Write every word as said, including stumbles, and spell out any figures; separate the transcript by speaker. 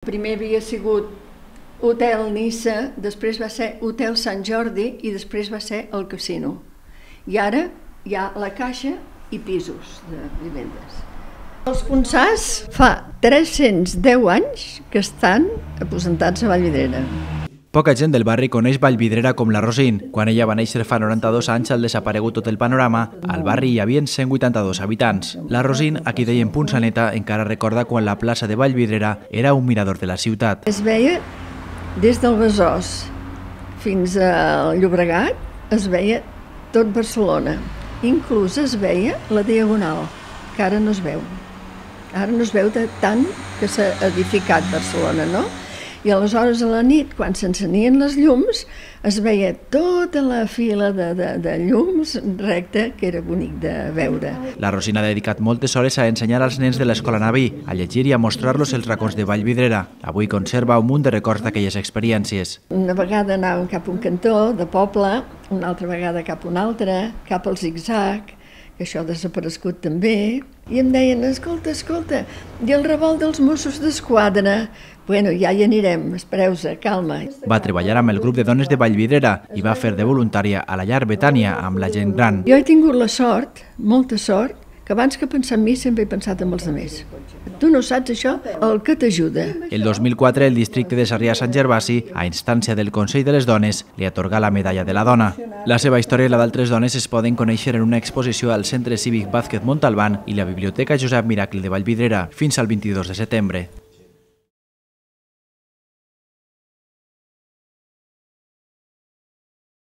Speaker 1: Primer havia sigut Hotel Niça, després va ser Hotel Sant Jordi i després va ser el Casino. I ara hi ha la Caixa i pisos de vivendes. Els Ponsars fa tres-cents deu anys que estan aposentats a Vallvidrera.
Speaker 2: Poca gent del barri coneix Vallvidrera com la Rosín. Quan ella va néixer fa noranta-dos anys al desaparegut tot el panorama, al barri hi havia cent vuitanta-dos habitants. La Rosín, a qui deien Punsaneta, encara recorda quan la plaça de Vallvidrera era un mirador de la ciutat.
Speaker 1: Es veia des del Besòs fins al Llobregat, es veia tot Barcelona. Inclús es veia la Diagonal, que ara no es veu. Ara no es veu de tant que s'ha edificat Barcelona, no? I aleshores a la nit, quan s'encenien les llums, es veia tota la fila de, de, de llums recta, que era bonic de veure.
Speaker 2: La Rosín ha dedicat moltes hores a ensenyar als nens de l'escola Naví, a llegir i a mostrar-los els racons de Vallvidrera. Avui conserva un munt de records d'aquelles experiències.
Speaker 1: Una vegada anàvem cap a un cantó de poble, una altra vegada cap a un altre, cap al zig-zag, que això ha desaparegut també, i em deien, escolta, escolta, i el revolt dels Mossos d'Esquadra? Bueno, ja hi anirem, espereu-se, calma.
Speaker 2: Va treballar amb el grup de dones de Vallvidrera i va fer de voluntària a la llar Betània amb la gent gran.
Speaker 1: Jo he tingut la sort, molta sort, que abans que pensar en mi sempre he pensat en els altres. Tu no saps això, el que t'ajuda.
Speaker 2: El dos mil quatre, el districte de Sarrià-Sant Gervasi, a instància del Consell de les Dones, li atorgà la medalla de la dona. La seva història i la d'altres dones es poden conèixer en una exposició al Centre Cívic Vázquez Montalbán i la Biblioteca Josep Miracle de Vallvidrera fins al vint-i-dos de setembre.